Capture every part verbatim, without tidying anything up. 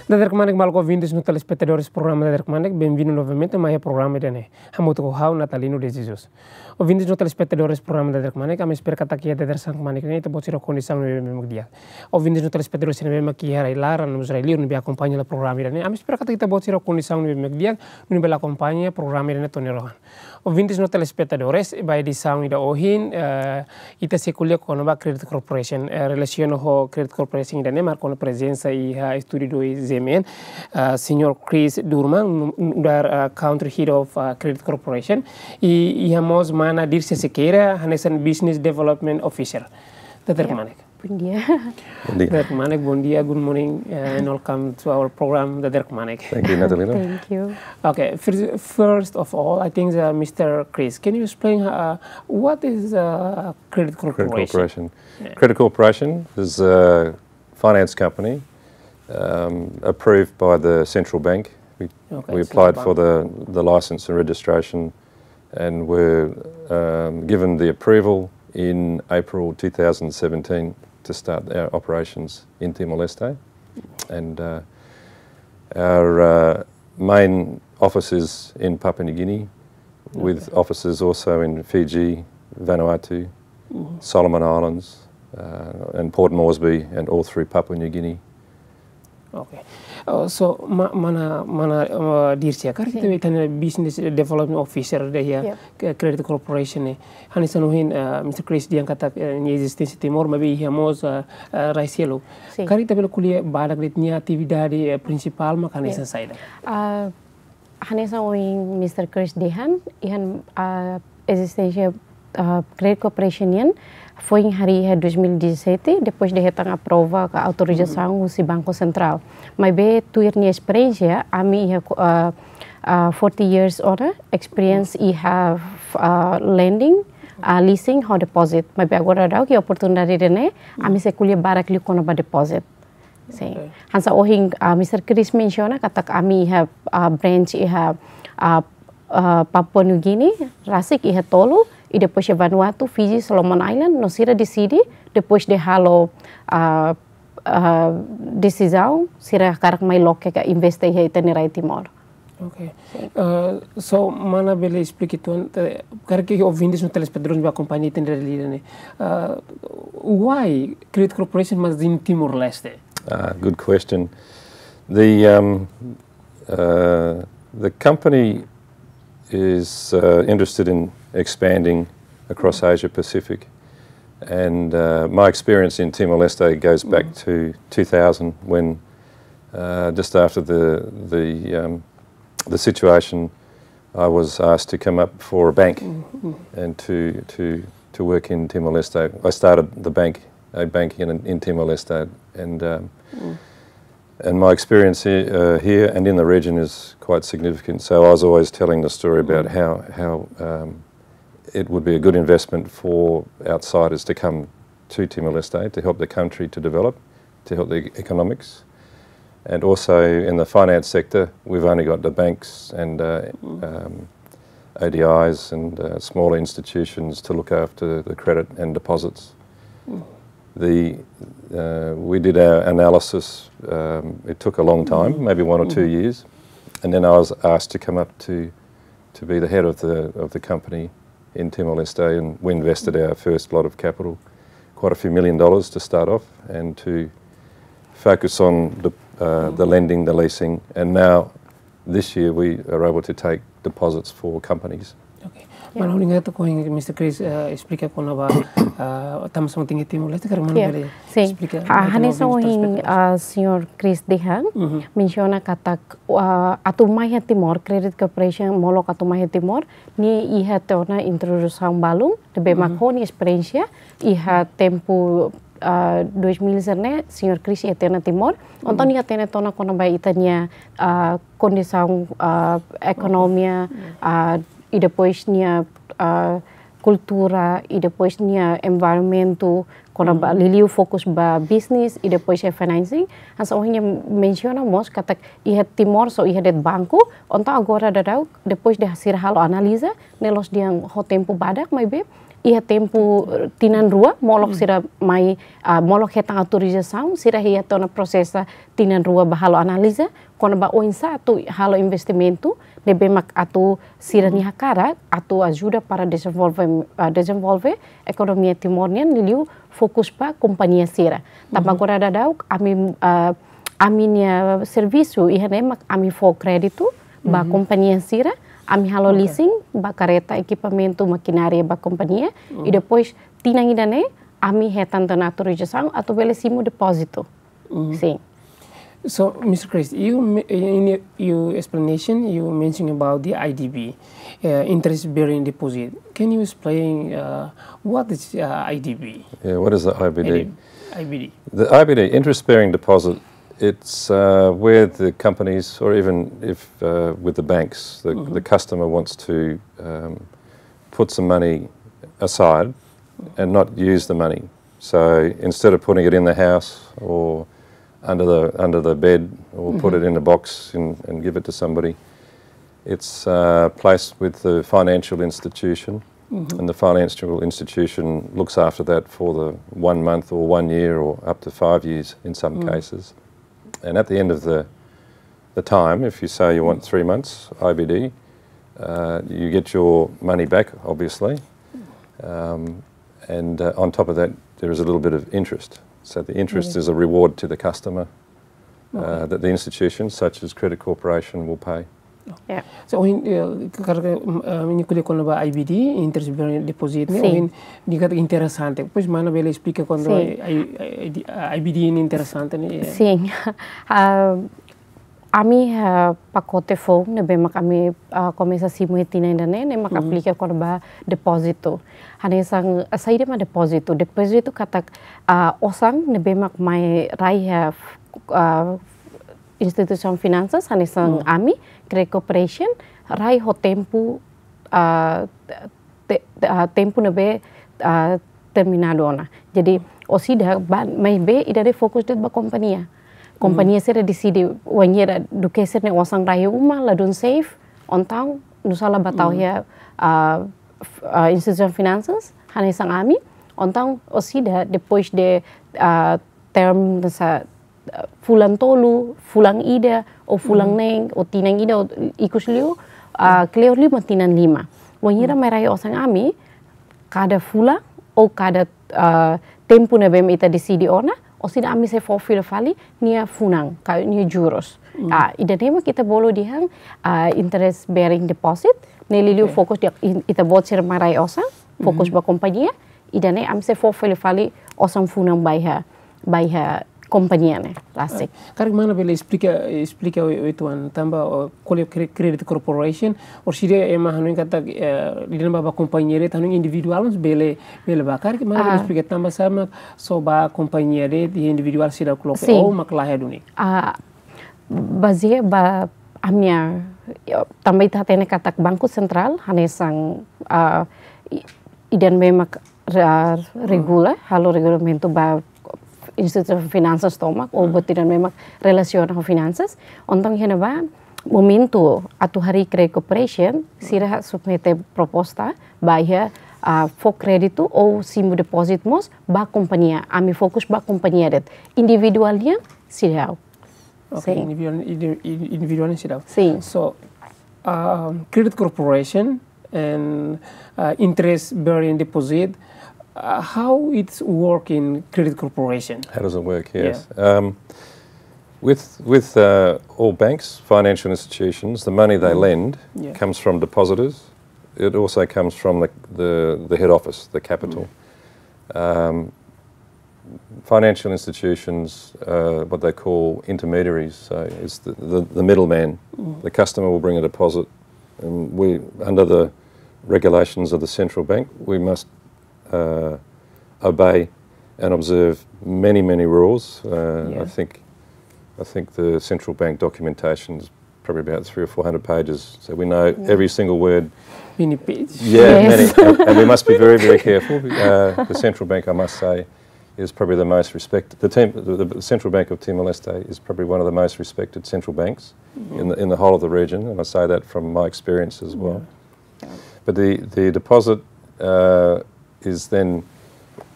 Dadeer kmanek maluk ouvintes no telespetadores programa Dadeer kmanek, benvindu novamente mai iha programa ida-ne'e. Hamutuk ho ha'u Natalino de Jesus. Ouvintes no telespetadores programa Dadeer kmanek, ami espera katak iha dadeer-saan kmanek ne'e ita-boot sira ho kondisaun ne'ebé mak di'ak. Ouvintes no telespetadores sira ne'ebé mak iha rai-laran no mós rai-liur ne'ebé akompaña hela programa ida-ne'e, ami espera katak ita-boot sira ho kondisaun ne'ebé mak di'ak, no ne'ebé bele akompaña programa ida-ne'e to'o nia rohan. Ouvintes no telespetadores, ba edisaun ida ohin, eh, ita sei ko'alia kona-ba Credit Corporation, eh, relasiona ho Credit Corporation ida-ne'e, marka ona prezensa iha estúdiu dois Z M N, eh, Señór Chris Durman, nu-, nu'udar, eh, Country Head of, eh, Credit Corporation, i iha mós mana Dircia Sequeira, hanesan Business Development Officer. Dadeer kmanek. Bom dia. Bom dia. Dadeer kmanek, bom dia, good morning, uh, and welcome to our program, Dadeer kmanek. Thank you, Natalino. Thank you. Okay, first, first of all, I think, uh, Mister Chris, can you explain, uh, what is, uh, Credit Corporation? Credit Corporation. Yeah. Credit Corporation is a finance company, um, approved by the central bank. We, okay, we applied for the, the license and registration and were, um, given the approval in April two thousand seventeen to start our operations in Timor-Leste. And, uh, our, uh, main office is in Papua New Guinea, with offices also in Fiji, Vanuatu, Solomon Islands, uh, and Port Moresby, and all through Papua New Guinea. Okay. Uh, so, ma-, mana, mana, uh, Dircia, karik ita-nia Business Development Officer ida iha Credit Corporation ne'e. Hanesan ohin, uh, Mister Chris dehan katak, uh, nia ezisténsia iha Timor, maibé iha mós, uh, uh, rai seluk. Karik ita bele ko'alia badak de'it nia atividade, uh, prinsipál mak hanesan saida? Uh, hanesan ohin Mister Chris dehan, iha, uh, ezisténsia, uh, Credit Corporation nian foin harii iha dois mil e dezassete, depois de hetan aprova ka autorizasaun husi Banku Sentrál. Maibé tuir nia esperiénsia, ami iha, uh, uh, forty years ora, experience iha, uh, lending, uh, leasing, ho deposit. Maibé agora daudaun iha oportunidade ida-ne'e, ami sei ko'alia badak liu kona-ba deposit. Sin. Okay. Hanesan ohin, uh, Mister Chris mensiona katak ami iha, uh, branch iha, uh, uh, Papua New Guinea, rasik iha tolu, i depois iha Vanuatu, Fiji, Solomon Island, no sira deside, depois de halo, uh, uh, desizaun, sira hakarak mai loke ka investe iha ita-nia rai Timor. Okay. Sin. Uh, so, mana bele esplika uitoan, eh, karik ouvintes no telespetadores ne'ebé akompaña ita-nia rai-li'ur ne'e. Uh, why Credit Corporation must in Timor-Leste? Ah, good question. The, um, uh, the company is, uh, interested in expanding across Asia Pacific. And, uh, my experience in Timor-Leste goes back to two thousand when, uh, just after the, the, um, the situation, I was asked to come up for a bank and to, to, to work in Timor-Leste. I started the bank, a bank in, in Timor-Leste, and, um, and my experience here, uh, here and in the region is quite significant. So I was always telling the story about how, how, um, it would be a good investment for outsiders to come to Timor-Leste to help the country to develop, to help the economics. And also in the finance sector, we've only got the banks and, uh, um, O D Is and, uh, smaller institutions to look after the credit and deposits. The, uh, we did our analysis. Um, it took a long time, maybe one or two years, and then I was asked to come up to, to be the head of the, of the company in Timor-Leste, and we invested our first lot of capital, quite a few million dollars to start off, and to focus on the, uh, the lending, the leasing, and now this year we are able to take deposits for companies. Okay. Ya. Mana, obrigadu ho Mister Chris, eh, esplika kona-ba, eh, tanbasá mak tenke iha Timor-Leste, karik mana bele esplika ba ita-nia ouvintes no telespetadores. Ah, hanesan ohin, ah, Señór Chris dehan, mensiona katak, ah, atu mai iha Timor, Credit Corporation molok atu mai iha Timor, nia iha tiha ona introdusaun balun, ne'ebé mak ho nia esperiénsia, iha tempu, ah, dois mil sira-ne'e, Señór Chris iha tiha ona Timor, entaun nia hatene tiha ona kona-ba ita-nia, ah, kondisaun, ah, ekonomia, ah, i depois nia, ah, kultura, i depois nia environmentu, kona-ba liuliu fokus ba business, i depois iha financing. Hanesan ohin nia mensiona mós katak iha Timor só iha de'it banku, entaun agora daudaun, depois de sira halo analiza, ne'e la'ós dehan ho tempu badak, maibé iha tempu, eh, tinan rua, molok sira mai, ah, molok hetan autorizasaun, sira iha tiha ona prosesu tinan rua ba halo analiza, kona-ba oinsá atu halo investimentu ne'ebé mak atu sira-nia hakarak atu ajuda para dezenvolve, ah, dezenvolve ekonomia Timor nian, liuliu fokus ba kompañia sira. Tanba agora daudaun ami, ah, ami-nia servisu iha ne'e mak ami fó kréditu ba kompañia sira, ami halo leasing ba kareta, ekipamentu, makinária ba kompañia, i depois tinan ida-ne'e ami hetan tiha ona autorizasaun atu bele simu depózitu. Sin. So, mister Chris, you me- in your, your explanation, you mentioned about the I D B, uh, interest bearing deposit. Can you explain, uh, what is, uh, I D B? Yeah, what is the I B D? I B D. The I B D, interest bearing deposit, it's uh, where the companies, or even if uh, with the banks, the, the customer wants to um, put some money aside and not use the money. So instead of putting it in the house or under the under the bed or put it in a box and, and give it to somebody, it's uh, placed with the financial institution, and the financial institution looks after that for the one month or one year or up to five years in some cases. And at the end of the the time, if you say you want three months I B D, uh, you get your money back, obviously. Um, and uh, on top of that, there is a little bit of interest. So the interest is a reward to the customer uh, that the institution, such as Credit Corporation, will pay. Yeah. So, ohin, eh, karik, eh, imi ko'alia kona-ba I B D, interest bearing deposit ne'e, Sin. Ohin dehan katak interesante. Depois mana bele esplika kona-ba Sin. I- I- I- I B D ne'e interesante ne'e. Sin. Ah, ami, ah, pakote foun ne'ebé mak ami, ah, komesa simu iha tinan ida-ne'e, ne'e mak aplika kona-ba depózitu. Hanesan, ah, saida mak depózitu? Depózitu katak, ah, osan ne'ebé mak mai rai iha, ah, instituisaun finansas, hanesan ami, Credit Corporation, rai ho tempu, ah, te- te- ah, tempu ne'ebé, ah, terminadu ona. Jadi, orsida ba- maibé ida-ne'e fokus de'it ba kompañia. Kompañia sira deside wainhira duké sira-nia osan rai iha uma, ladún safe, entaun nu'usá la ba tau iha, ah, f- ah, instituisaun finansas, hanesan ami, entaun orsida depois de, ah, term nessa, ah, fulan tolu, fulan ida, ou fulan neen, ou tinan ida, ou ikus liu, ah, kleur liu mak tinan lima. Wainhira mai rai osan ami, kada fulan, ou kada, ah, tempu ne'ebé mak ita deside ona, orsida ami sei fó fila fali nia funan, ka nia juros. Ah, ida-ne'e mak ita bolu dehan, ah, interest bearing deposit, ne'e liuliu fokus de'it, ita-boot sira mai rai osan, fokus ba kompañia, ida-ne'e ami sei fó fila fali osan funan ba iha, ba iha kompañia ne'e, rasik. Karik mana bele esplika, esplika oituan tanba, oh, ko'alia kre- Credit Corporation, orsida ema hanoin katak, eh, lidan ba, ba kompañia de'it, hanoin individuál mós bele, bele ba. Karik mana bele esplika tanba sá mak só ba kompañia de'it, individuál seidauk loke, Sin. Ou mak laiha duni. Ah, bazeia ba ami-nia, ya, tanba ita hatene katak Banku Sentrál, hanesan, ah, i- ida ne'ebé mak re- regula, halo regulamentu ba instituisaun finansas tomak, ou buat ida ne'ebé mak relasiona ho finansas. Entaun iha ne'ebá, momentu atu harii Credit Corporation, sira submete proposta ba iha, ah, fó kréditu ou simu depózitu mós ba kompañia. Ami fokus ba kompañia de'it. Individuál nian seidauk. Okay, Sin. Individuál, indi- indi- individuál seidauk. Sin. So, um, Credit Corporation and, uh, interest bearing deposit, uh, how it's work in Credit Corporation? How does it work? Yes. Um, with with uh, all banks, financial institutions, the money they lend Yeah. comes from depositors. It also comes from the, the, the head office, the capital. Um, financial institutions, uh, what they call intermediaries, so it's the, the, the middleman. The customer will bring a deposit, and we, under the regulations of the central bank, we must uh, obey and observe many, many rules. Uh, Yeah. I think, I think the central bank documentation is probably about three or four hundred pages, so we know every single word. Many page. Yeah, Yes. many, and, and we must be very, very careful. Uh, the central bank, I must say, is probably the most respected. The, team, the, the Central Bank of Timor Leste is probably one of the most respected central banks in the in the whole of the region, and I say that from my experience as well. But the the deposit, uh, is then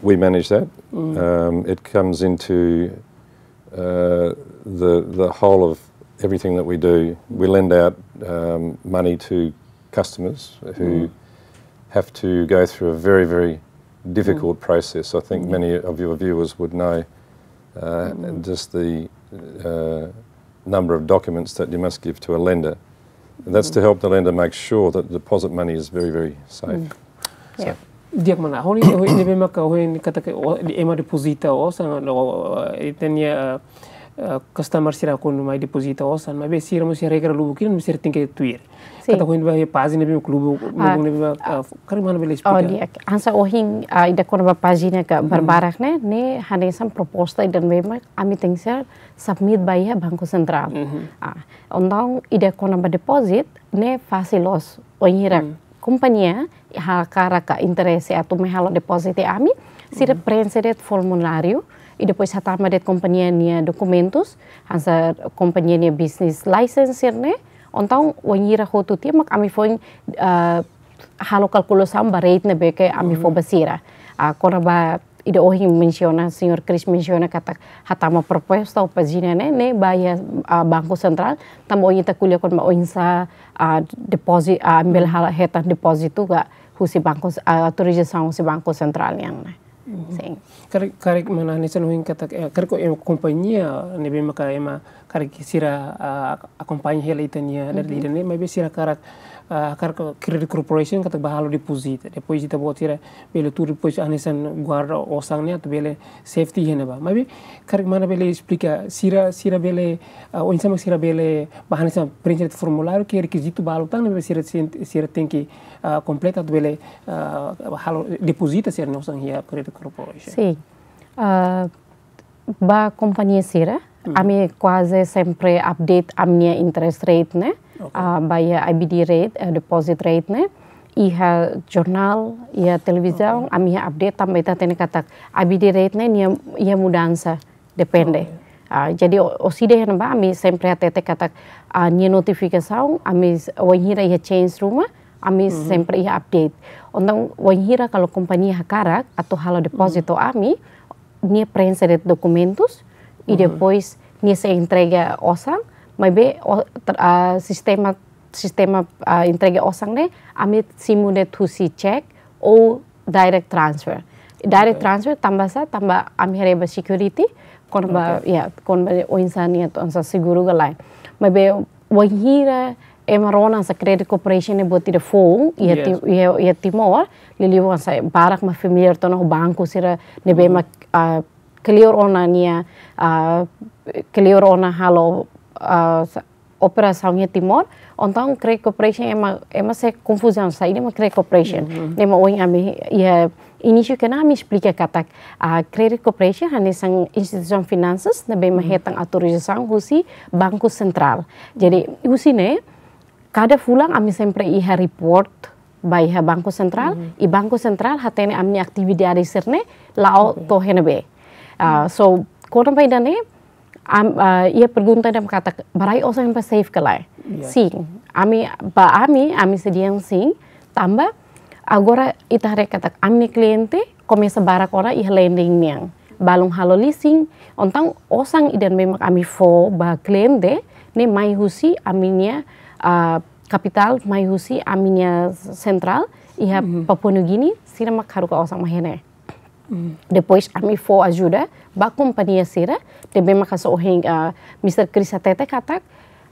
we manage that. Um, it comes into uh, the the whole of everything that we do. We lend out um, money to customers who have to go through a very, very difficult process. I think many of your viewers would know uh, just the uh, number of documents that you must give to a lender. And that's to help the lender make sure that the deposit money is very, very safe. So, Di'ak mana, ha'u hanoin, ha'u hanoin ne'ebé maka ha'u hanoin katak ema depozita osan, no, eh, ita-nia, eh, eh, customer sira kuandu mai depozita osan, maibé sira mós iha regra lubuk ida ne'ebé sira tenke tuir. Sin. Katak ha'u hanoin ba pájina ne'ebé mak lubuk, lubuk ne'ebé mak, eh, karik mana bele esplika? Oh, di'ak. Hanesan ohin, ah, ida kona-ba pájina ka barbarak ne'e, ne'e hanesan proposta ida ne'ebé mak ami tenke submit ba iha Banku Sentrál. Ah, entaun ida kona-ba deposit, ne'e fasil loos, wainhira kompañia hakarak ka interese atu mai halo deposit iha ami, sira preenxe de'it formuláriu, i depois hatama de'it kompañia nia dokumentus, hanesan kompañia nia business license sira-ne'e, entaun wainhira hotu tiha mak ami foin, ah, halo kalkulasaun ba rate ne'ebé ke ami fó ba sira. Ah, kona-ba ida ohin mensiona, Señór Chris mensiona katak hatama proposta ou pájina ne'e, ne'e ba iha, ah, Banku Sentrál, tanba ohin ita ko'alia kona-ba oinsá, ah, deposit, ah, ami bele halo hetan depózitu ka husi banku, ah, autorizasaun husi Banku Sentrál nian ne'e. Sin. Karik, karik mana hanesan ohin katak, eh, karik ema kompañia ne'ebé maka ema karik sira, ah, akompaña hela ita-nia dada ida ne'e, maibé sira hakarak, ah, hakarak credit corporation katak ba halo deposit. Depois ita-boot sira bele tuur, depois hanesan guarda osan ne'e atu bele safety iha ne'ebá. Maibé karik mana bele esplika sira, sira bele, ah, oinsá mak sira bele ba hanesan preenxe formuláriu ke rekizitu balu tan ne'ebé sira sen-, sira tenke, ah, kompleta atu bele, ah, halo depozita sira-nia osan iha credit corporation. Sin. Ah, ba kompañia sira, ami kuaze sempre update ami-nia interest rate ne'e, ah, ba iha I B D rate, eh, deposit rate ne'e, iha jornál, iha televizaun, ami iha update tanba ita hatene katak I B D rate ne'e nia iha mudansa, depende. Ah, jadi o-, orsida iha ne'ebá ami sempre hatete katak, ah, nia notifikasaun, ami s-, wainhira iha change ruma, ami sempre iha update. Entaun wainhira kalau kompañia hakarak atu halo depózitu ami, nia preenxe de'it dokumentus, i depois nia sei entrega osan, maibé o-, ter-, ah, sistema, sistema, ah, entrega osan ne'e, ami simu de'it husi cheque ou direct transfer. Direct transfer tanba sá, tanba ami haree ba security, kona-ba, ya, kona-ba oinsá nia atu hanesan seguru ka lae. Maibé wainhira ema rona hanesan credit corporation ne'e buat ida foun iha Ti-, iha, iha Timor, liuliu hanesan barak mak familiar tiha ona ho banku sira ne'ebé mak, ah, kleur ona nia, ah, kleur ona halo, ah, sa-, operasaun iha Timor, entaun credit corporation ema, ema sei konfuzaun saida mak credit corporation. Ne'e mak ohin ami iha inísiu ke ami esplika katak, ah, credit corporation hanesan instituisaun finansas ne'ebé mak hetan autorizasaun husi Banku Sentrál. Jadi husi ne'e, kada fulan ami sempre iha report ba iha Banku Sentrál, i Banku Sentrál hatene ami-nia atividade sira-ne'e la'o to'o iha ne'ebé. Ah, so, kona-ba ida-ne'e, am-, ah, iha pergunta ida mak katak ba rai osan ne'e ba safe ka lae? Sin, ami, ba ami, ami sei dehan sin, tanba agora ita haree katak ami-nia kliente komesa barak ona iha lending nian. Balun halo leasing, entaun osan ida ne'ebé mak ami fó ba kliente, ne'e mai husi ami-nia, ah, kapitál, mai husi ami-nia sentrál iha Papua New Guinea, sira mak haruka osan mai iha ne'e. Depois ami fó ajuda ba kompañia sira, ne'ebé mak hanesan ohin, ah, Mister Chris hatete katak,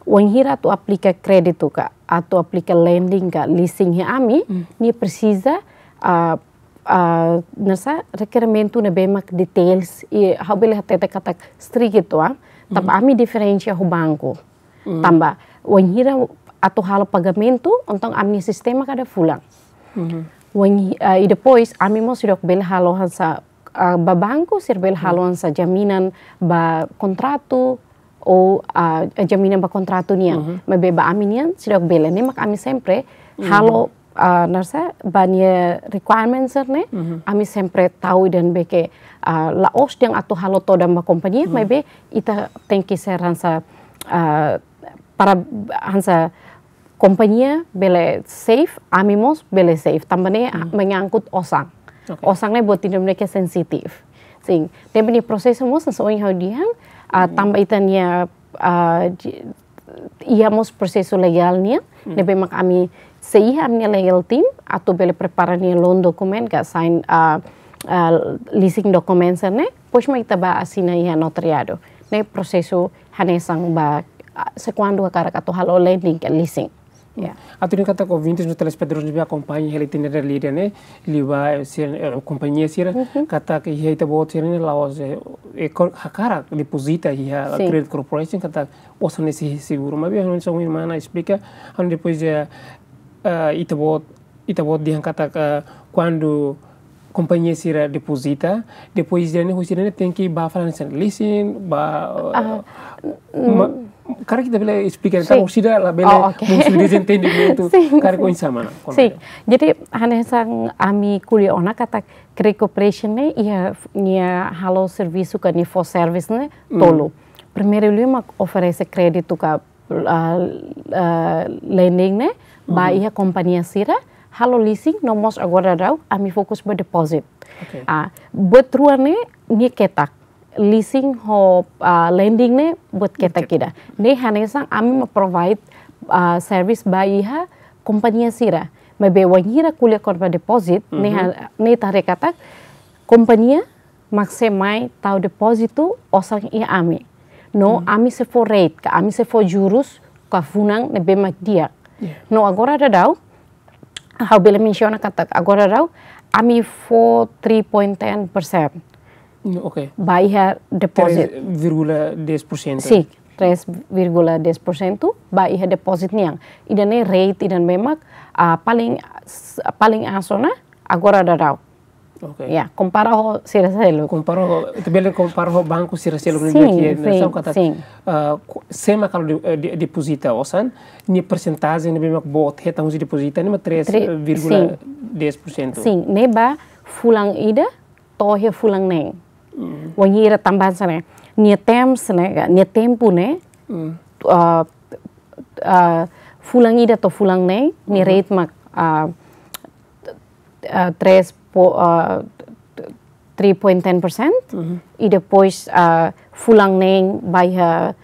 wainhira atu aplika kréditu ka, atu aplika lending ka, leasing iha ami, nia presiza, ah, ah, hanesan rekerimentu ne'ebé mak details, i ha'u bele hatete katak strict uitoan, tanba ami diferensia ho banku. Tanba, wainhira atu halo pagamentu, entaun ami-nia sistema kada fulan. Wain-, ah, i depois, ami mós seidauk bele halo hanesan, ah, ba banku, sira bele halo hanesan jaminan ba kontratu, ou, ah, jaminan ba kontratu nian. Maibé ba ami nian, seidauk bele. Ne'e mak ami sempre halo, ah, hanesan, ba nia requirements sira-ne'e, ami sempre tau ida ne'ebé ke, ah, la'ós dehan atu halo todan ba kompañia, maibé ita tenke ser hanesan, ah, para hanesan kompañia bele safe, ami mós bele safe. Tanba ne'e, ah, menyangkut osan. Oke. Osan ne'e buat ida-ne'e ke sensitif. Sin, ne'ebé nia prosesu mós hanesan ohin ha'u dehan, ah, tanba ita-nia, ah, di-, iha mós prosesu legál nian, ne'ebé mak ami sei iha ami-nia legal team, atu bele prepara nia loan document, ka sign, ah, ah, leasing document sira-ne'e, depois mak ita bá asina iha notariadu. Ne'e prosesu hanesan ba, ah, se kuandu hakarak atu halo lending ka leasing. Ya. Atu dehan katak ouvintes no telespetadores ne'ebé akompaña hela ita-nia realidade ne'e, liuhusi, eh, kompañia sira, katak iha ita-boot sira-ne'e la'ós, eh, eh, kor-, hakarak depozita iha Credit Corporation, katak osan ne'e sei seguru. Maibé, hanesan ohin mana esplika, hanesan depois, eh, eh, ita-boot, ita-boot dehan katak, eh, kuandu kompañia sira depozita, depois ida-ne'e, husi ida-ne'e tenke bá fali hanesan leasing, bá, eh, ma-, karik ita bele esplika, entaun, sida labele, oh, oke, mungkin dezentendimentu, karik oinsá mana? Sin. Jadi, hanesan ami ko'alia ona katak Credit Corporation ne'e, iha nia halo servisu ka nia fó servisu ne'e tolu. Primeiru liu mak oferese kréditu ka, ah, ah, lending ne'e ba iha kompañia sira, halo leasing, no mós agora daudaun ami fokus ba deposit. Oke. Ah, buat rua ne'e nia ketak. Leasing ho, ah, lending ne'e buat ketak ida. Ne'e hanesan ami mak provide, ah, service ba iha kompañia sira. Maibé wainhira ko'alia kona-ba deposit, ne'e ha-, ne'e ita haree katak kompañia mak sei mai tau depózitu osan iha ami. No ami sei fó rate, ka ami sei fó jurus, ka funan ne'ebé mak di'ak. Ya. No agora daudaun, ha'u bele mensiona katak agora daudaun, ami fó three point ten percent. Mm, oke. Ba iha deposit. Três vírgula dez por cento. Sin, três vírgula dez por cento ba iha deposit nian. Ida-ne'e rate, ida-ne'ebé mak, ah, paling, paling aas ona agora daudaun. Oke. Ya, kompara ho sira seluk. Kompara ho, ita bele kompara ho banku sira seluk ne'ebé ke, sin, sá katak, sin, ah, ku-, sé mak halo de-, eh, de-, depozita osan, nia persentajen ne'ebé mak boot hetan husi depozita ne'e mak três vírgula dez por cento. Sin, ne'e ba fulan ida to'o iha fulan neen. Wainhira tanba hanesan ne'e, nia terms ne'e, nia tempu ne'e, ah, ah, fulan ida to'o fulan neen, nia rate mak, ah, ah, três po-, ah, three point ten percent, i depois, ah, fulan neen ba iha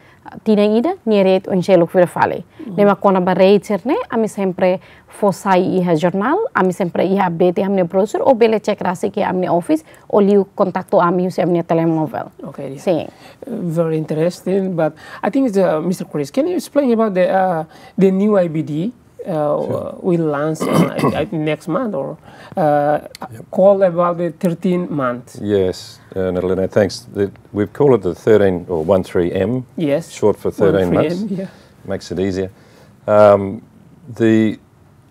tinan ida, nia rate oin seluk fila fali. Ne'e mak kona-ba rate sira-ne'e, ami sempre fó sai iha jornál, ami sempre iha update iha ami-nia browser, ou bele cek rasik iha ami-nia office, ou liu kontaktu ami husi ami-nia telemóvel. Okay, yeah. Sin. Uh, very interesting, but I think it's, uh, Mister Chris, can you explain about the, uh, the new I B D? Uh, sure. Will launch, uh, I, I, next month or, uh, yep, called about the thirteen month. Yes, uh, Natalina, thanks. The, we've called it the thirteen or one three M. Yes. Short for thirteen months. One three M, yeah. Makes it easier. Um, the,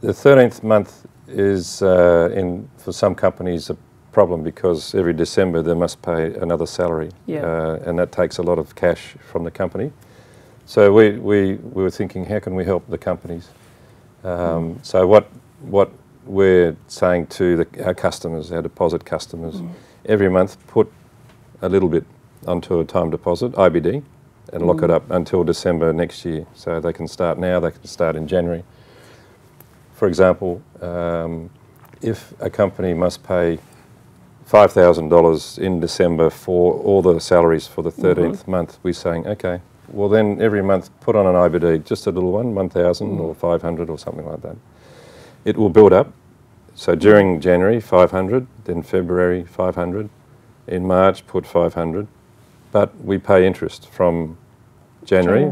the thirteenth month is, uh, in, for some companies, a problem because every December they must pay another salary. Yeah. Uh, and that takes a lot of cash from the company. So we, we, we were thinking, how can we help the companies? Um, so what, what we're saying to the, our customers, our deposit customers, every month put a little bit onto a time deposit, I B D, and lock it up until December next year. So they can start now, they can start in January. For example, um, if a company must pay five thousand dollars in December for all the salaries for the thirteenth month, we're saying, okay, well then every month put on an I B D, just a little one, one thousand or five hundred or something like that. It will build up. So during January, five hundred, then February, five hundred. In March, put five hundred. But we pay interest from January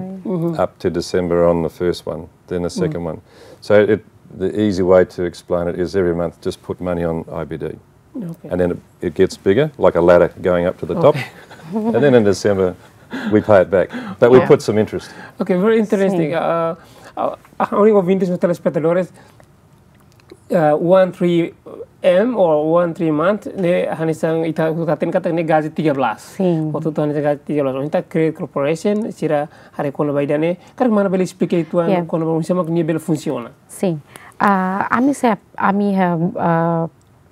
up to December on the first one, then the second one. So it, the easy way to explain it is every month just put money on I B D. Okay. And then it, it gets bigger, like a ladder going up to the top. Okay. And then in December, we pay it back. But we put some interest. Okay, very interesting. Sin. Uh, uh, uh, ouvintes no telespetadores, uh, one three M or one three month, ne'e hanesan ita hatene katak ne'e gaji tiga belas. Sin. Hotu-hotu hanesan gaji tiga belas. Entaun Credit Corporation, sira haree kona-ba ida-ne'e, karik mana bele esplika uitoan kona-ba oinsá mak nia bele funsiona. Sin. Ah, ami se, ami iha, ah,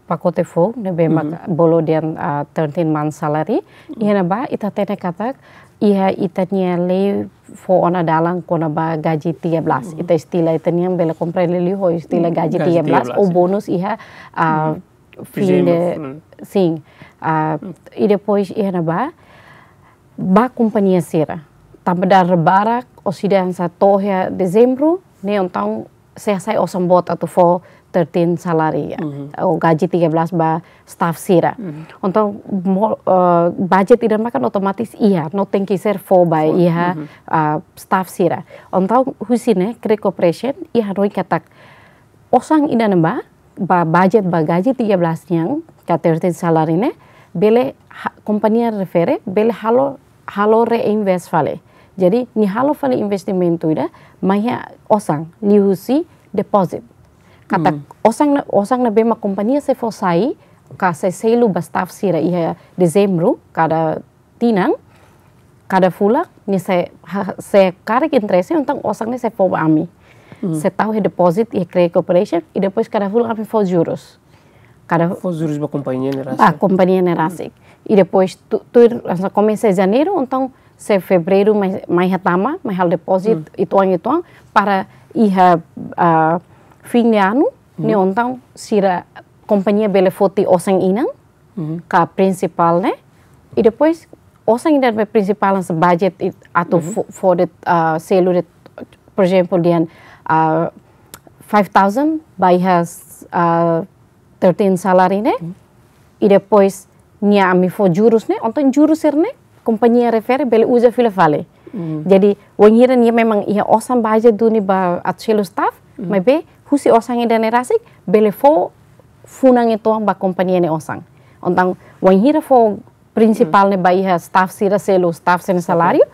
pakote foun, ne'ebé mak bolu dehan, ah, thirteen month salary. Iha ne'ebá, ita hatene katak, iha ita-nia lei fó ona dalan kona-ba gaji tiga belas. Ita istilah ita-nian bele komprende liu ho istilah gaji tiga belas, ou bonus iha, ah, fim de, sin. Ah, i depois iha ne'ebá, ba kompañia sira. Tanba dala barak, orsida hanesan to'o iha Dezembru, ne'e entaun sei hasai osan boot atu fó thirteen salary, ou gaji tiga belas ba staff sira. Entaun, mo-, eh, budget ida maka otomatis iha, no tenke ser fó ba iha, ah, staff sira. Entaun, husi ne'e, Credit Corporation, iha hanoin katak, osan ida-ne'ebá, ba budget ba gaji tiga belas nian, ka thirteen salary ne'e, bele ha-, kompañia refere, bele halo, halo reinvest fali. Jadi, nia halo fali investimentu ida, mai iha osan, liuhusi deposit. Katak osan ne'e, osan ne'ebé mak kompañia sei fó sai, ka sei selu ba staff sira iha Dezembru, kada tinan, kada fulan, nia sei ha-, sei karik interese, entaun osan ne'e sei fó ba ami. Sei tau iha deposit iha Credit Corporation, i depois kada fulan ami fó jurus. Kada fó jurus ba kompañia ne'e rasik. Ba kompañia ne'e rasik. I depois tu, tu, hanesan komesa Janeiru, entaun sei Fevereiru mai, mai hatama, mai halo deposit, uitoan, uitoan, para iha, ah, fim de ano, ne'e entaun sira kompañia bele foti osan inan, ka prinsipál ne'e. I depois, osan ida be prinsipál hanesan budget i atu fó, fó de'it, ah, selu de'it, por ezemplu, dehan, ah, five thousand ba iha, ah, thirteen salary ne'e. I depois, nia ami fó jurus ne'e, entaun jurus sira-ne'e, kompañia refere bele uza fila fali. Jadi, wainhira nia memang iha osan budget duni ba atu selu staff, maibé, husi osan ida-ne'e rasik, bele fó funan uitoan ba kompañia nia osan. Entaun, wainhira fó prinsipál ne'e ba iha staff sira selu, staff sira-nia saláriu,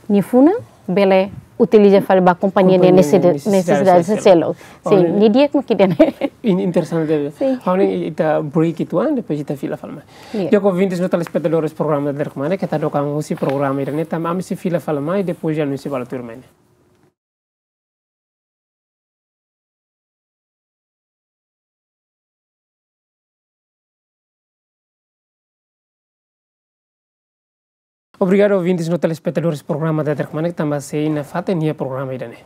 nia funan bele utiliza fali ba kompañia nia, kompañia nia nesesida-, nesesidade, nesesidade selu. Sin, ne'e di'ak mak ida-ne'e. Interesante. Sin. Ha'u hanoin ita break uitoan, depois ita fila fali mai. Di'ak, ouvintes no telespetadores programa Daderek Manek, keta hadook an husi programa ida-ne'e, tanba ami sei fila fali mai, depois anúnsiu ba tuirmai ne'e. Obrigadu, ouvintes no telespetadores programa Daderek Manek, tanba sei nafatin iha programa ida-ne'e.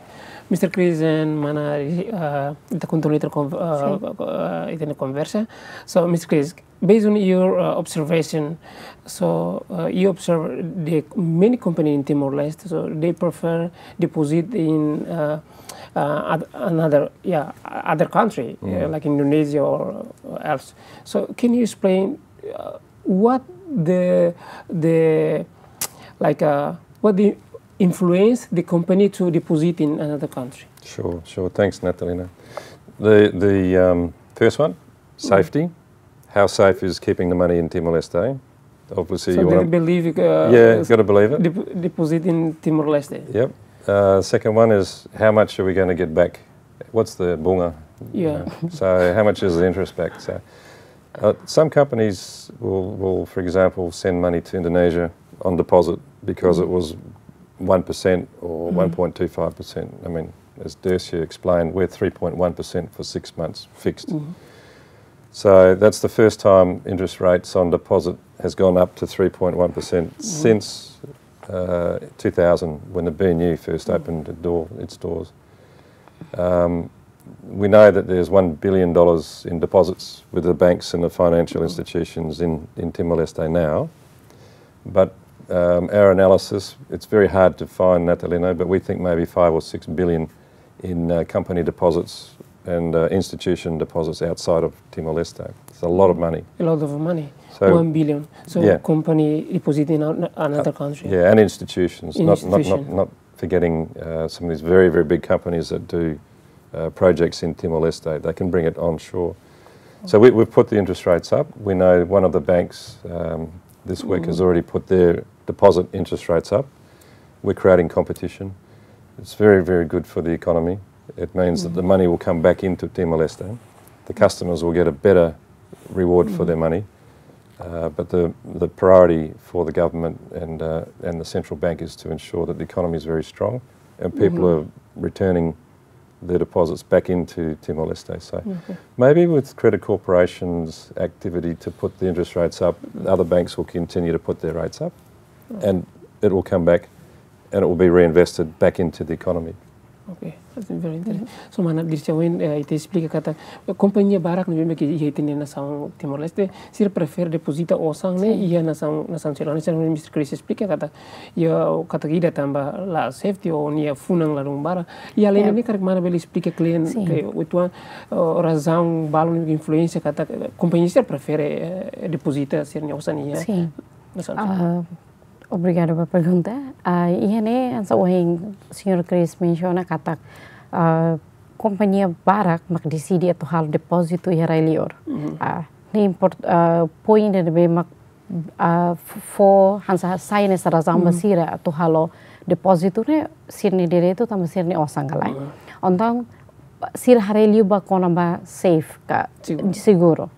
Mister Chris and mana, ah, ita kontinua ita kon-, ah, ah, ita-nia konversa. So, Mister Chris, based on your, uh, observation, so, uh, you observe the many company in Timor-Leste, so they prefer deposit in, uh, uh, oth-, another, yeah, other country, uh, like Indonesia or else. So can you explain, uh, what the, the, like, uh, what the influence the company to deposit in another country? Sure, sure. Thanks, Natalina. The, the, um, first one, safety. How safe is keeping the money in Timor-Leste? Obviously, so you they wanna believe, uh, yeah, gotta believe it. Dep-, deposit in Timor-Leste. Yep. Uh, second one is, how much are we gonna get back? What's the bunga? Yeah. You know? So how much is the interest back? So, uh, some companies will, will, for example, send money to Indonesia on deposit because it was one percent or one point two five percent. I mean, as Dersia explained, we're three point one percent for six months fixed. So that's the first time interest rates on deposit has gone up to three point one percent since, uh, two thousand, when the B N U first opened the door, its doors. Um, we know that there's one billion dollars in deposits with the banks and the financial institutions in, in Timor-Leste now. But, um, our analysis, it's very hard to find, Natalina, but we think maybe five or six billion in, uh, company deposits and, uh, institution deposits outside of Timor-Leste. It's a lot of money. A lot of money. So, one billion. So, yeah, company deposit in an-, another country. Yeah, and institutions, not, not, not, institution, not forgetting, uh, some of these very, very big companies that do, uh, projects in Timor-Leste. They can bring it onshore. So we, we've put the interest rates up. We know one of the banks, um, this week has already put their deposit interest rates up. We're creating competition. It's very, very good for the economy. It means that the money will come back into Timor-Leste. The customers will get a better reward for their money. Uh, but the, the priority for the government and, uh, and the central bank is to ensure that the economy is very strong and people are returning their deposits back into Timor-Leste. So maybe with Credit Corporation's activity to put the interest rates up, the other banks will continue to put their rates up, and it will come back and it will be reinvested back into the economy. Okay. Very interesting. So mana Dirce, ohin, eh, ita esplika katak, eh, kompañia barak ne'ebé mak iha ita-nia nasaun Timor-Leste, sira prefere depozita osan ne'e iha nasaun, nasaun sira. Hanesan Mister Chris esplika katak, iha katak ida tanba la safety ou nia funan ladún barak. Iha além ne'e karik mana bele esplika klien ke uitoan, eh, razaun balun ne'ebé influensia katak, eh, kompañia sira prefere, eh, depozita sira-nia osan iha nasaun sira. Obrigada ba pergunta. Ah, iha ne'e hanesan ohin Señór Chris mensiona katak, ah, kompañia barak mak deside atu halo depózitu iha rai-liur. Ah, ne'e import-, ah, poin ida ne'ebé mak, ah, f-, fó hanesan sai hanesan razaun ba sira atu halo depózitu ne'e sira-nia direitu tanba sira-nia osan ka lae. Entaun sira haree liu ba kona-ba safe ka seguru.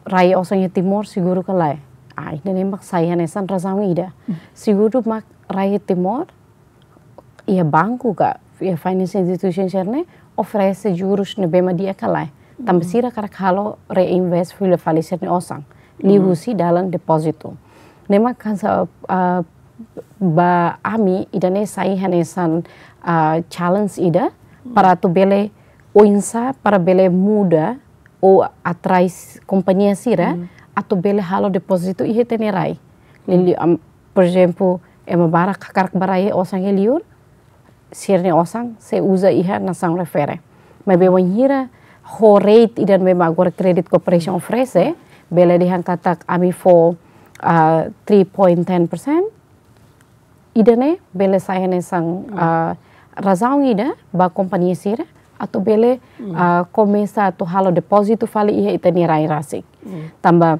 Rai osan iha Timor seguru ka lae. Ah, ida-ne'e mak sai hanesan razaun ida. Seguru mak rai iha Timor, iha banku ka, iha financial institution sira-ne'e oferese jurus ne'ebé mak di'ak ka lae. Tanba sira hakarak halo reinvest fila fali sira-nia osan. Liuhusi dalan depózitu. Ne'e mak hanesan, ah, ba ami ida-ne'e sai hanesan, ah, challenge ida para atu bele oinsá para bele muda ou atrai kompañia sira atu bele halo depózitu iha ita-nia rai. Liuliu, am, por ezemplu, ema barak hakarak ba rai osan iha liur, sira-nia osan sei uza iha nasaun refere. Maibé wainhira ho rate ida ne'ebé mak agora Credit Corporation oferese, bele dehan katak ami fó, ah, three point ten percent, ida-ne'e bele sai hanesan, ah, razaun ida ba kompañia sira atu bele, ah, komesa atu halo depózitu fali iha ita-nia rai rasik. Tanba,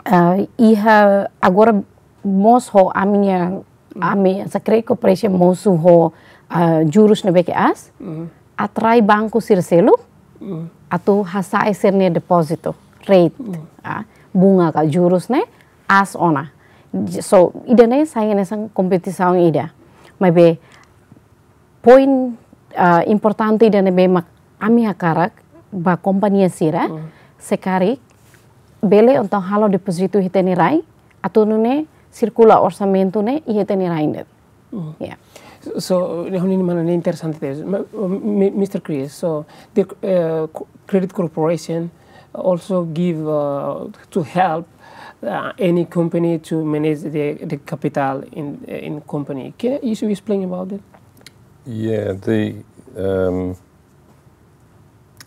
ah, iha agora mós ho ami-nia, ami hanesan Credit Corporation mosu ho, ah, jurus ne'ebé ke aas, atrai banku sira seluk atu hasa'e sira-nia depózitu, rate, ah, bunga ka jurus ne'e aas ona. So, ida-ne'e sai hanesan kompetisaun ida. Maibé poin, ah, importante ida ne'ebé mak ami hakarak ba kompañia sira, se karik bele entaun halo depózitu iha ita-nia rai, atu nune'e sirkula orsamentu ne'e iha ita-nia rai de'it. Ya. So, ne'e ha'u-nia mana ne'e interesante tebes. Ma-, mi-, Mister Chris, so the, uh, co-, Credit Corporation also give, uh, to help, uh, any company to manage the, the capital in, in company. Can you explain about it? Yeah, the, um,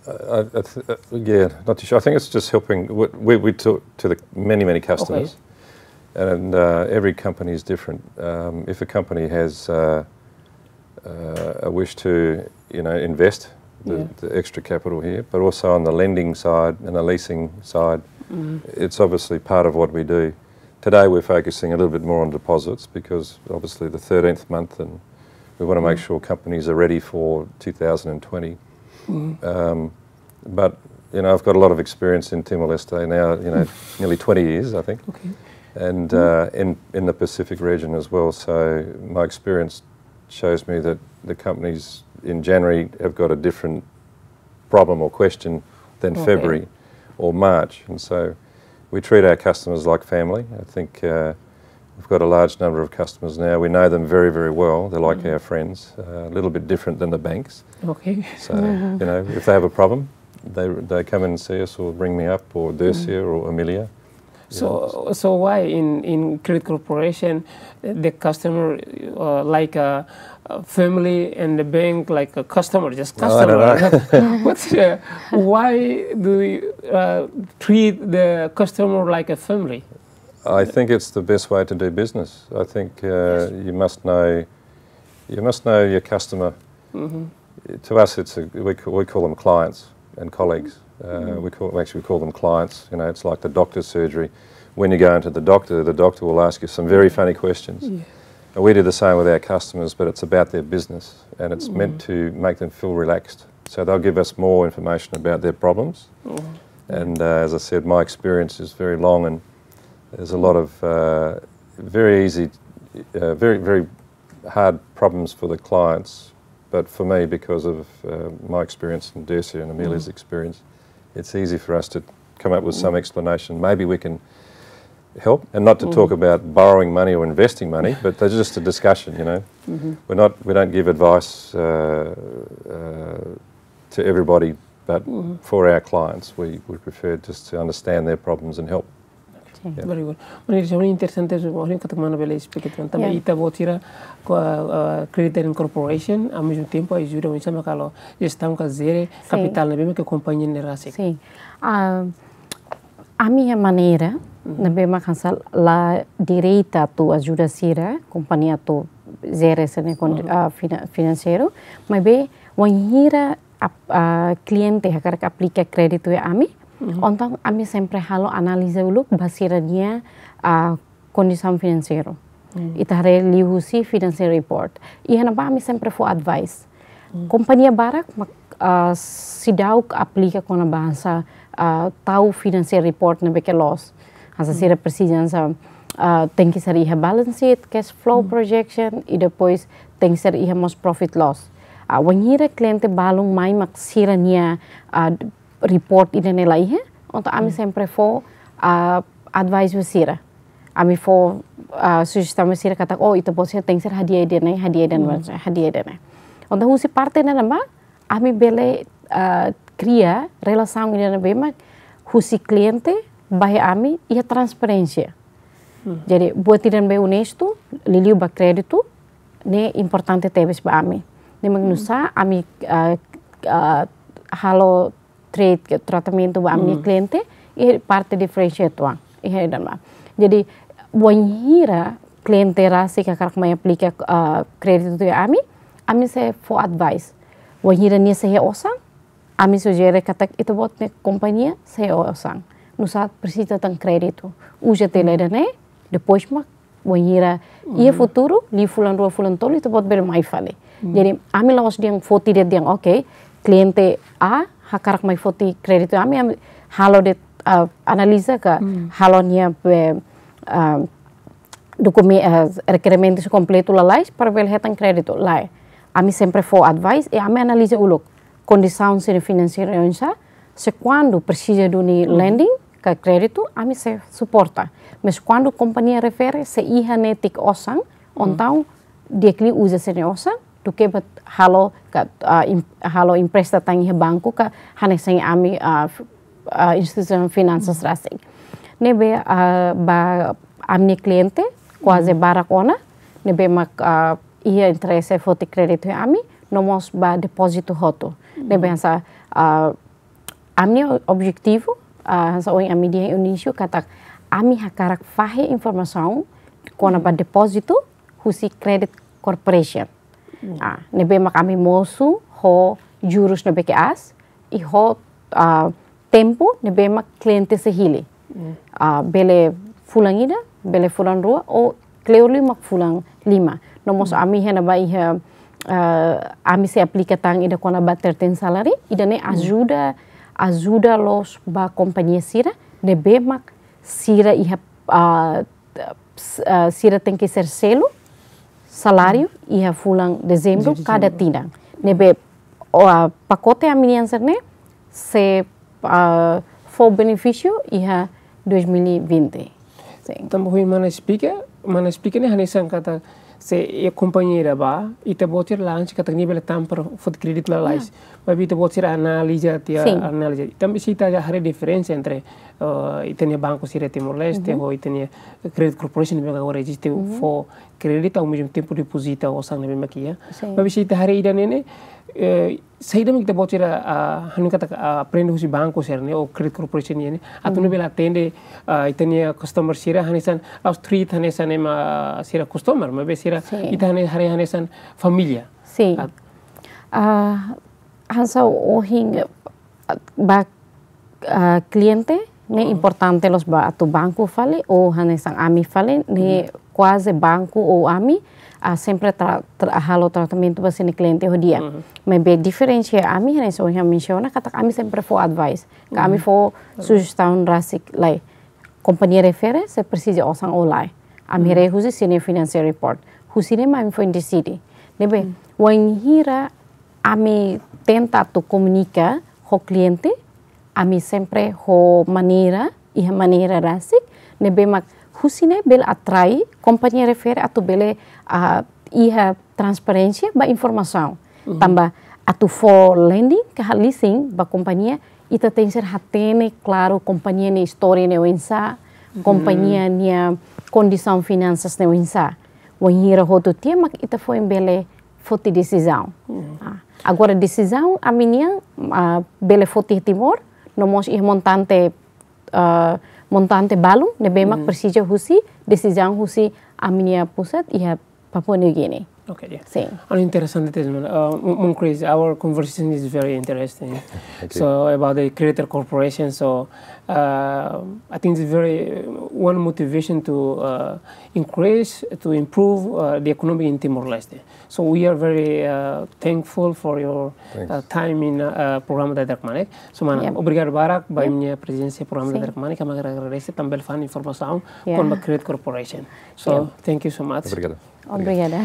I, I th-, uh, yeah, not too sure. I think it's just helping. We, we, we talk to the many, many customers, and, uh, every company is different. Um, if a company has, uh, uh, a wish to, you know, invest the, the extra capital here, but also on the lending side and the leasing side, it's obviously part of what we do. Today we're focusing a little bit more on deposits because obviously the thirteenth month and we want to make sure companies are ready for two thousand and twenty. Um, but, you know, I've got a lot of experience in Timor-Leste now, you know, nearly twenty years, I think. And, uh, in, in the Pacific region as well. So my experience shows me that the companies in January have got a different problem or question than February or March. And so we treat our customers like family. I think, uh, we've got a large number of customers now. We know them very, very well. They're like our friends, uh, a little bit different than the banks. So, you know, if they have a problem, they, they come and see us or ring me up or Dersia or Amelia. So, so why in, in Credit Corporation, uh, the customer, uh, like a, a family and the bank like a customer, just customer? No, I don't know. What's, uh, why do you, uh, treat the customer like a family? I think it's the best way to do business. I think, uh, you must know, you must know your customer. To us, it's a, we, ca-, we call them clients and colleagues. Uh, we call, we actually call them clients. You know, it's like the doctor's surgery. When you go into the doctor, the doctor will ask you some very funny questions. And we do the same with our customers, but it's about their business, and it's meant to make them feel relaxed. So they'll give us more information about their problems. And, uh, as I said, my experience is very long, and there's a lot of, uh, very easy, uh, very, very hard problems for the clients. But for me, because of, uh, my experience and Dersia and Amelia's experience, it's easy for us to come up with some explanation. Maybe we can help, and not to talk about borrowing money or investing money, but that's just a discussion, you know. We're not, we don't give advice uh, uh, to everybody, but for our clients, we, we prefer just to understand their problems and help. Sin. Very good. Mana, ida-ne'e interesante, ida-ne'e katak mana bele explain tan. Tanba ita-boot sira, ko, uh, Credit Incorporation, ao mesmo tempo ajuda oinsá mak halo jestaun ka jere kapitál ne'ebé mak kompañia ne'e rasik. Sin. Ah, ami-nia maneira ne'ebé mak hanesan la direta atu ajuda sira, kompañia atu jere sira-nia kon-, ah, fina-, finanseiru, maibé wainhira ap-, ah, kliente hakarak aplika kréditu iha ami, entaun ami sempre halo analiza uluk ba sira-nia, ah, kondisaun finanseiru. Ita haree liuhusi financial report. Iha ne'ebá ami sempre fó advice. Kompañia barak mak, ah, seidauk aplika kona-ba hanesan, ah, tau financial report ne'ebé ke loos. Hanesan sira presiza hanesan, ah, tenke ser iha balance sheet, cash flow projection, i depois tenke ser iha mós profit loss. Ah, wainhira kliente balun mai mak sira-nia, ah, report ida-ne'e la iha, entaun ami sempre fó, ah, advice ba sira. Ami fó, ah, sujestaun ba sira katak, oh, ita-boot sira tenke ser hadi'a ida-ne'e, hadi'a ida-ne'e, hadi'a ida-ne'e. Entaun husi parte ne'ebá, ami bele, ah, kria relasaun ida ne'ebé mak husi kliente ba iha ami iha transparénsia. Jadi buat ida ne'ebé onestu, liuliu ba kréditu, ne'e importante tebes ba ami. Ne'e mak nu'usá ami, ah, ah, halo trade, ke tratamentu ba ami-nia kliente, iha parte diferensia uitoan, iha ida-ne'ebá. Jadi wainhira kliente rasik hakarak mai aplika, ah, kréditu iha ami, ami sei fó advice. Wainhira nia sei iha osan, ami sujere katak ita-boot nia kompañia sei iha osan. Nu'usá presiza tan kréditu. Uza tiha ida-ne'e, depois mak wainhira iha futuru, liu fulan rua fulan tolu, ita-boot bele mai fali. Jadi, ami la'ós dehan foti de'it dehan, oke, kliente A hakarak mai foti kréditu ami, ami halo de'it, ah, analiza ka, halo nia be, ah, dokumen-, ah, rekerementu kompletu lalais para bele hetan kréditu, lae. Ami sempre fó advice, i ami analiza uluk kondisaun sira-nia finanseiru oinsá, se kuandu presiza duni lending, ka kréditu, ami sei suporta. Mas kuandu kompañia refere, sei iha netik osan, entaun di'ak liu uza sira-nia osan, duké ba halo ka, ah, em-, halo empresta tan iha banku ka hanesan ami, ah, f-, ah, instituisaun finansas rasik. Ne'ebé, ah, ba ami-nia kliente, kuaze barak ona, ne'ebé mak, ah, iha interese foti kréditu iha ami, no mós ba depózitu hotu. Ne'ebé hanesan, ah, ami-nia objetivu, ah, hanesan ohin ami dehan iha inísiu katak ami hakarak fahe informasaun kona-ba depózitu husi Credit Corporation. Ah, ne'ebé mak ami mosu ho jurus ne'ebé ke aas, i ho, ah, tempu ne'ebé mak kliente sei hili. Ah, bele fulan ida, bele fulan rua, ou kleur liu mak fulan lima. No mós ami iha ne'ebá iha, ah, ami sei aplika tan ida kona-ba thirteen salary, ida-ne'e ajuda, ajuda loos ba kompañia sira, ne'ebé mak sira iha, ah, s-, ah, sira tenke ser selu saláriu iha fulan Dezembru kada tinan. Ne'ebé, o, ah, pakote ami-nian sira-ne'e sei, ah, fó benefísiu iha dois mil e vinte. Sin. Tanba ohin mana esplika, mana esplika ne'e hanesan katak se iha kompañia ida bá, ita-boot sira la ansi katak nia bele tampar foti kréditu lalais. Maibé ita-boot sira analiza tiha, analiza. Tanba se ita haree diferensa entre, eh, ita-nia banku sira Timor-Leste, ho ita-nia Credit Corporation ne'ebé agora eziste fó kréditu, ao mesmo tempo depozita osan ne'ebé mak iha. Sin. Maibé se ita haree ida-ne'e ne'e, eh, saida mak ita-boot sira, ah, hanoin katak, ah, aprende husi banku sira-ne'e, ou Credit Corporation nian ne'e, atu nune'e bele atende, ah, ita-nia customer sira, hanesan la'ós treat hanesan ema sira customer, maibé sira, ita hane-, haree hanesan família. Sin. Ah, hanesan ohin, ah, ba, ah, kliente ne'e importante loos ba atu banku fali, ou hanesan ami fali, ne'e kuaze banku ou ami, ah, sempre tra-, tra-, halo tratamentu ba sira-nia kliente ho di'ak. Maibé diferensia ami, hanesan ohin mensiona, katak ami sempre fó advice. Ka ami fó sujestaun rasik, lae. Kompañia refere, se presiza osan ou lae. Ami haree husi sira-nia financial report. Husi ne'e mak ami foin deside. Ne'ebé, wainhira ami tenta atu komunika ho kliente, ami sempre ho maneira, iha maneira rasik, ne'ebé mak Husi ne'e bele atrai kompañia refere atu bele, ah, iha transparénsia ba informasaun. Mhm. Tanba atu fó lending ka leasing ba kompañia, ita tenke ser hatene klaru kompañia nia istória ne'e oinsá, mhm, kompañia nia kondisaun finansas ne'e oinsá. Wainhira hotu tiha mak ita foin bele foti desizaun. Mhm. Ah, agora desizaun ami-nian, ah, bele foti Timor, no mós iha montante, ah, montante balun ne'ebé mak, mhm, presiza husi desizaun husi ami-nia pusat iha Papua New Guinea. Okay, yeah. Sin. An interesante tema. Uh, Maun Chris, our conversation is very interesting. Thank you. So about the Creator Corporation, so, uh, I think it's very, uh, one motivation to, uh, increase, to improve, uh, the economy in Timor-Leste. So we are very, uh, thankful for your, thanks, uh, time in, uh, programa Dadeer Kmanek. So, mana, yep, obrigadu barak ba, yep, imi-nia prezensa iha programa, sin, Dadeer Kmanek, kami agradese tanba bele fó informasaun, yeah, kona-ba Creator Corporation. So, yep, thank you so much. Obrigadu. Obrigada.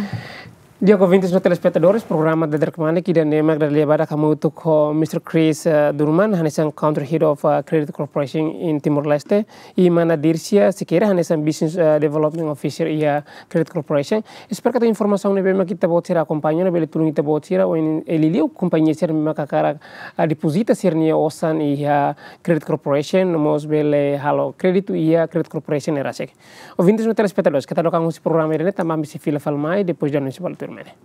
Di'ak, ouvintes no telespetadores, programa Dadeer Kmanek ida-ne'e mak dada lia badak hamutuk ho Mister Chris, eh, Durman, hanesan Country Head of, eh, Creator Corporation in Timor-Leste, i mana Dircia Sequeira, hanesan Business, eh, Development Officer iha Creator Corporation. Espera katak informasaun ne'ebé mak ita-boot sira akompaña ne'e bele tulun ita-boot sira, ohin, eh, liuliu kompañia sira ne'ebé mak hakarak, ah, depozita sira-nia osan iha Creator Corporation, no mós bele halo kréditu iha Creator Corporation ne'e rasik. Ouvintes no telespetadores, keta hadook an husi programa ida-ne'e, tanba ami sei fila fali mai, depois de anúnsiu balu tuirmai ne'e.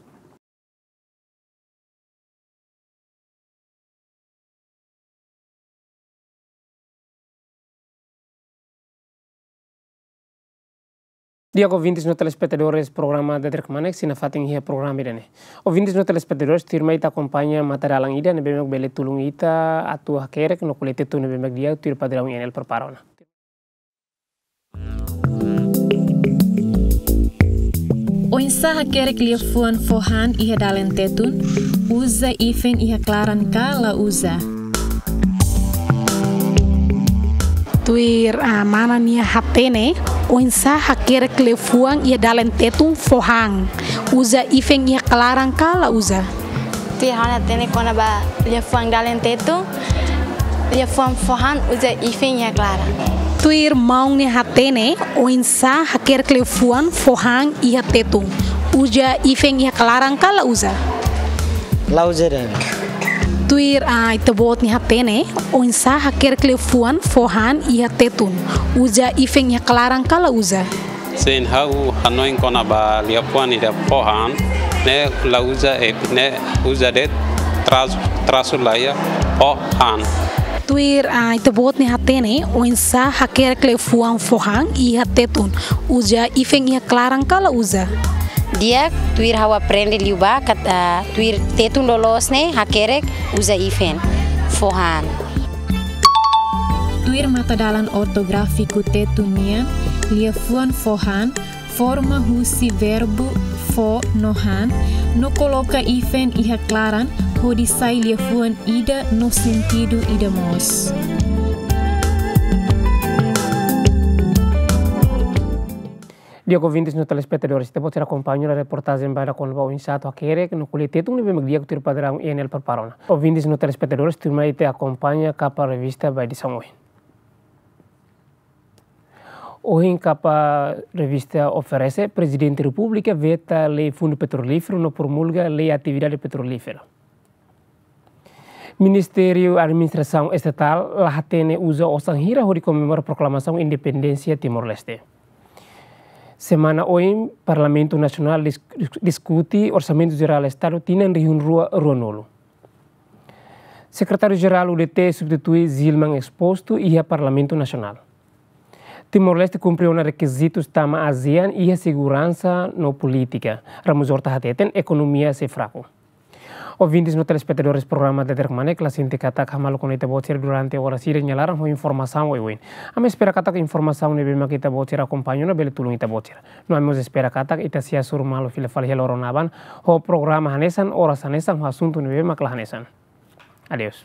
Di'ak, ouvintes no telespetadores programa Dadeer Kmanek, sei nafatin iha programa ida-ne'e. Ouvintes no telespetadores, tuirmai ita akompaña matadalan ida ne'ebé mak bele tulun ita atu hakerek no ko'alia Tetun ne'ebé mak di'ak tuir padraun I N L prepara ona. Oinsá hakerek liafuan fó han iha dalen Tetun, uza ifen iha klaran ka la uza? Tuir, ah, mana nia hatene, oinsá hakerek liafuan iha dalen Tetun fó han, uza ifen iha klaran ka la uza? Tuir ha'u-nia hatene kona-ba liafuan dalen Tetun, liafuan fó han uza ifen iha klaran. Tuir maun nia hatene, oinsá hakerek liafuan fó han iha Tetun, uza ifen iha klaran ka la uza? La uza de'it. Tuir, ah, ita-boot nia hatene, oinsá hakerek liafuan fó han iha Tetun, uza ifen iha klaran ka la uza? Sin, ha'u hanoin kona-ba liafuan ida fó han, ne'e la uza, eh, ne'e uza de'it, tras-, trasu la iha, fó han. Tuir, ah, ita-boot nia hatene, oinsá hakerek liafuan fó han iha Tetun, uza ifen iha klaran ka la uza? Di'ak, tuir ha'u aprende liubá, kat-, ah, tuir Tetun loloos ne'e, hakerek, uza ifen, fó han. Tuir matadalan ortográfiku Tetun nian, liafuan fó han forma husi verbu fó no han, no koloka ifen iha klaran, hodi sai liafuan ida no sentidu ida mós. Di'ak, ouvintes no telespetadores, ita-boot sira akompaña reportajen badak kona-ba oinsá atu hakerek no ko'alia Tetun ne'ebé mak di'ak tuir padraun I N L prepara ona. Ouvintes no telespetadores, tuirmai ita akompaña kapa revista ba edisaun ohin. Ohin kapa revista oferese, Prezidente Repúblika veta lei Fundu Petrolíferu no promulga lei atividade petrolífera. Ministériu Administrasaun Estatál la hatene uza osan hira hodi komemora proklamasaun independénsia Timor-Leste. Semana oin, Parlamentu Nasionál dis-, dis-, diskute Orsamentu Jerál Estadu tinan rihun rua ruanulu. Sekretáriu Jerál U D T substitui Zilman Exposto iha Parlamentu Nasionál. Timor-Leste kumpre ona rekizitus tama ASEAN iha seguransa no polítika. Ramos Horta hateten ekonomia sei fraku. Ouvintes no telespetadores programa Dadeer Kmanek, la sente katak hamaluk ona ita-boot sira durante oras ida nia laran ho informasaun oioin. Ami espera katak informasaun ne'ebé mak ita-boot sira akompaña ona bele tulun ita-boot sira. No ami mós espera katak ita sei hasoru malu fila fali iha loron aban ho programa hanesan, oras hanesan, ho asuntu ne'ebé mak la hanesan. Adeus.